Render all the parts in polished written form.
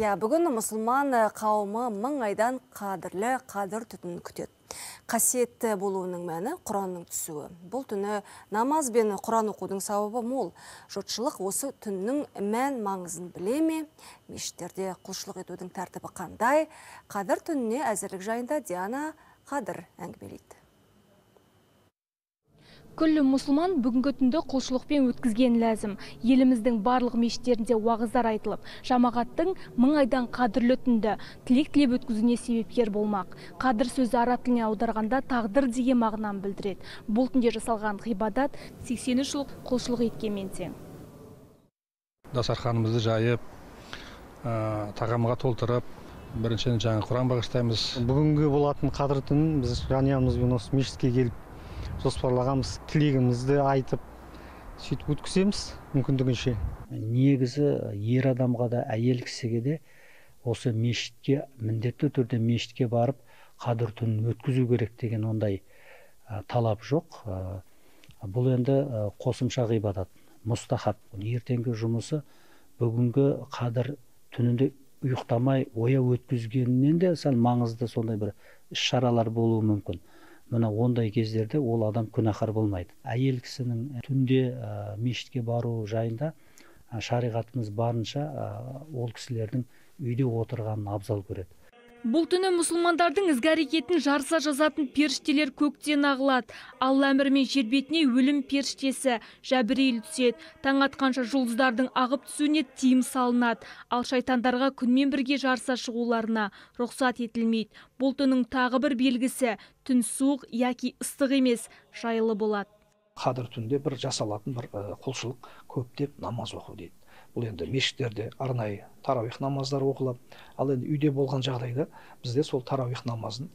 Бүгін мұсылман қауымы мың айдан қадірлі қадір түнін күтеді. Қасиетті болуының мәні Құранның түсуі. Бұл түні намаз бен Құран оқудың сауабы мол. Жұртшылық осы түннің мән маңызын біле ме? Мешіттерде құлшылық етудің тәртібі қандай? Қадір түніне әзірлік жайында Диана Қадыр әңгімелейді. Күллі мұсылман бүгінгі түнді құлшылықпен өткізген ләзім. Еліміздің барлық мешіттерінде уағыздар айтылып, жамағаттың мың айдан қадірлі түнді тілек тілеп өткізуіне себепкер болмақ. Қадір сөзі араб тіліне аударғанда тағдыр деген мағынаны білдіреді. Бұл түнде жасалған ғибадат 80 жыл құлшылық еткенмен тең. Дастарханымызды жайып, тағамға толтырып, біріншіден жаңа Құран бағыштаймыз. Бүгінгі болатын қадір түнін біз жанұямызбен осы мешітке келіп жоспарлағанбыз, тілегімізді айтып, сөйтіп өткіземіз мүмкіндігінше. Негізі ер адамға да, әйел кісіге де осы мешітке, міндетті түрде мешітке барып, қадір түнін өткізу керек деген ондай талап жоқ. Бұл енді қосымша ғибадат, мұстахаб. Ертеңгі жұмысы бүгінгі қадір түнінде ұйықтамай ояу өткізгеннен де сәл маңызды сондай бір іс-шаралар болуы мүмкін. Мына ондай кездерде ол адам күнәһар болмайды. Әйел кісінің түнде мешітке бару жайында шариғатымыз барынша ол кісілердің үйде отырғанын абзал көреді. Бұл түні мұсылмандардың ізгі әрекетін жарыса жазатын періштелер көктен ағылады. Алла әмірімен жер бетіне өлім періштесі Жәбірейіл түседі. Таң атқанша жұлдыздардың ағып түсуіне тыйым салынады. Ал шайтандарға күнмен бірге жарыса шығуларына рұқсат етілмейді. Бұл түннің тағы бір белгісі түн суық яки ыстық емес, жайлы болады. Қадір түнде бір жасалатын бір құлшылық көптеп намаз оқу дейді. Бұл енді мешіттерде арнайы тарауих намаздар оқылып, ал енді үйде болған жағдайда бізде сол тарауих намазын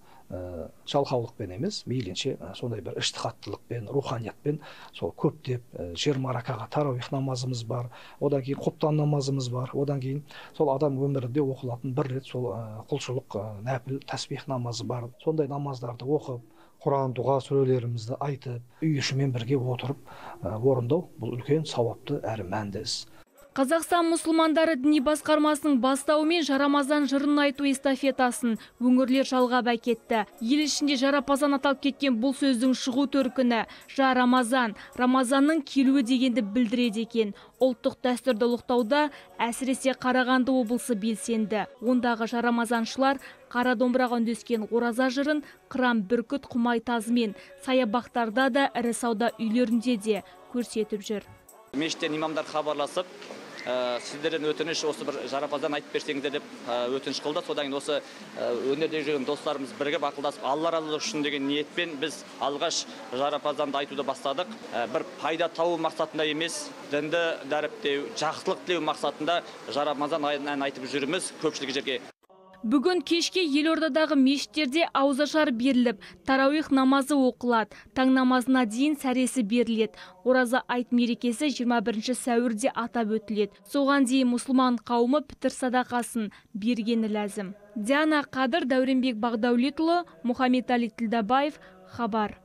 жалқаулықпен емес, мейлінше сондай бір іштихаттылықпен, руханиятпен сол көптеп 20 ракаға тарауих намазымыз бар, одан кейін құптан намазымыз бар, одан кейін сол адам өмірінде оқылатын бір рет сол құлшылық нәпіл тәсбих намазы бар. Сондай намаздарды оқып, Құран дұға сүрелерімізді айтып, үй ішімен бірге отырып орындау бұл үлкен сауапты әрі мәнді іс. Қазақстан мұсылмандары діни басқармасының бастауымен Жарамазан жырын айту эстафетасын өңірлер жалғап әкетті. Ел ішінде жарапазан аталып кеткен бұл сөздің шығу төркіні Жарамазан, Рамазанның келуі дегенді білдіреді екен. Ұлттық дәстүрді ұлықтауда әсіресе Қарағанды облысы белсенді. Ондағы жарамазаншылар қара домбыраға үндескен ораза жырын Қыран бүркіт құмай тазымен саябақтарда да ірі сауда үйлерінде де көрсетіп жүр. Мешіттен имамдар хабарласып, сіздерден өтініш осы бір жарапазан айтып берсеңіздер деп өтініш қылды. Содан кейін осы өнерде жүрген достарымыз бірігіп ақылдасып, Алла разылығы үшін деген ниетпен біз алғаш жарапазанды айтуды бастадық. Бір пайда табу мақсатында емес, дінді дәріптеу, жақсылық тілеу мақсатында жарапазан әнін айтып жүрміз көпшілік жерге. Бүгін кешке елордадағы мешіттерде ауызашар беріліп, тарауих намазы оқылады. Таң намазына дейін сәресі беріледі. Ораза айт мерекесі 21 сәуірде атап өтіледі. Соған дейін мұсылман қауымы пітір садақасын бергені ләзім. Диана Қадыр, Дәуренбек Бағдаулетұлы, Мұхаммед Али Тілдабаев, Хабар.